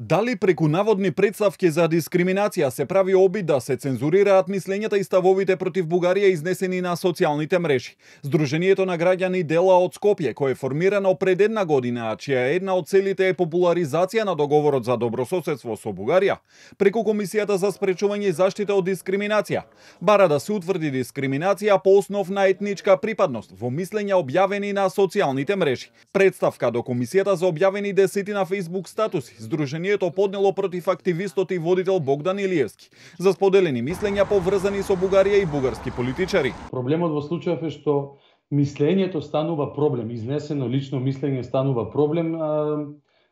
Дали преку наводни претставки за дискриминација се прави обид да се цензурираат мислењата и ставовите против Бугарија изнесени на социјалните мрежи? Сдруженијето на граѓани Дела од Скопје, кое е формирано пред една година, а чија една од целите е популаризација на договорот за добрососедство со Бугарија, преку Комисијата за спречување и заштита од дискриминација, бара да се утврди дискриминација по основ на етничка припадност во мислења објавени на социјалните мрежи. Претставка до Комисијата за објавени 10 на Facebook статуси, Сдруженијето поднело против активистот и водител Богдан Илиевски за споделени мислења поврзани со Бугарија и бугарски политичари. Проблемот во случајов е што мислењето станува проблем, изнесено лично мислење станува проблем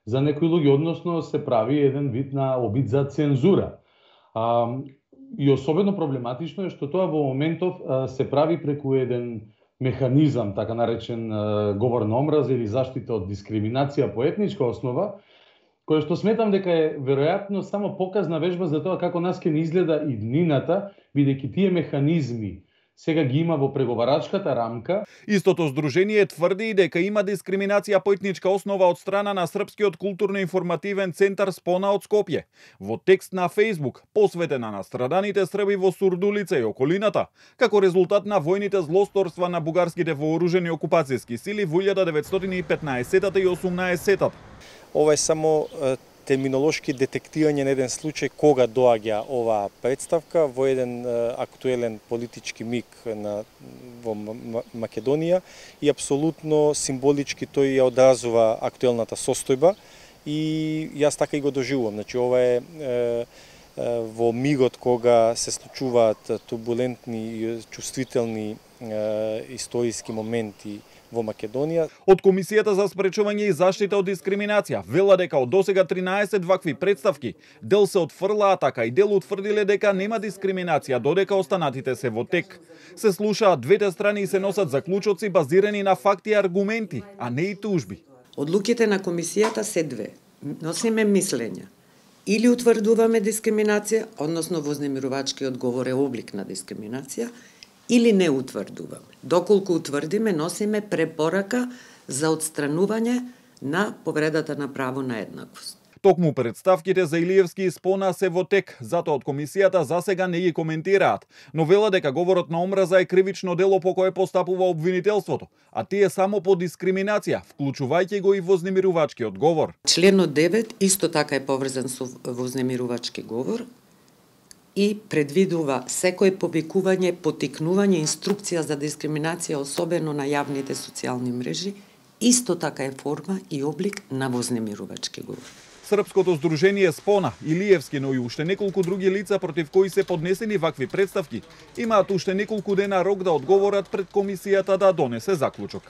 за некои луѓе, односно се прави еден вид на обид за цензура. И особено проблематично е што тоа во моментов се прави преку еден механизам, така наречен говор на омраза или заштита од дискриминација по етничка основа, кој што сметам дека е веројатно само показна вежба за тоа како нас ќе ни изгледа и днината, бидејќи тие механизми сега ги има во преговарачката рамка. Истото здружение тврди дека има дискриминација по етничка основа од страна на Српскиот културно-информативен центар Спона од Скопје. Во текст на Facebook, посветена на страданите Срби во Сурдулица и околината, како резултат на војните злосторства на бугарските вооружени окупацијски сили во 1915 и 18. Ова е само терминолошки детектирање на еден случај кога доаѓа оваа представка во еден актуелен политички миг во Македонија и апсолутно символички тој ја одразува актуелната состојба и јас така и го доживувам. Значи ова е во мигот кога се случуваат турбулентни и чувствителни историски моменти во Македонија. Од Комисијата за спречување и заштита од дискриминација вела дека од досега 13 вакви претставки, дел се отфрлаа, така и дел утврдиле дека нема дискриминација, додека останатите се во тек. Се слушаат двете страни и се носат заклучоци базирани на факти и аргументи, а не и тужби. Одлуките на Комисијата се две. Носиме мислења. Или утврдуваме дискриминација, односно вознемирувачкиот говор е облик на дискриминација, или не утврдуваме. Доколку утврдиме, носиме препорака за отстранување на повредата на право на еднаквост. Токму претставките за Илиевски и Спона се во тек, затоа од Комисијата засега не ги коментираат, но вела дека говорот на омраза е кривично дело по кое постапува обвинителството, а тие само по дискриминација, вклучувајќи го и вознемирувачкиот говор. Членот 9 исто така е поврзан со вознемирувачки говор и предвидува секој повикување, поттикнување, инструкција за дискриминација, особено на јавните социјални мрежи, исто така е форма и облик на вознемирувачки говор. Српското здружение Спона, Илиевски, но и уште неколку други лица против кои се поднесени вакви претставки, имаат уште неколку дена рок да одговорат пред Комисијата да донесе заклучок.